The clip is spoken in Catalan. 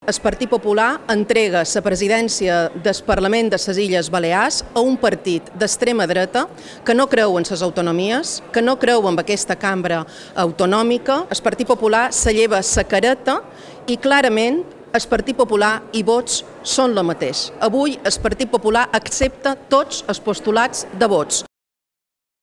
El Partit Popular entrega la presidència del Parlament de les Illes Balears a un partit d'extrema dreta que no creu en les autonomies, que no creu en aquesta cambra autonòmica. El Partit Popular se lleva la careta i clarament el Partit Popular i Vox són el mateix. Avui el Partit Popular accepta tots els postulats de Vox.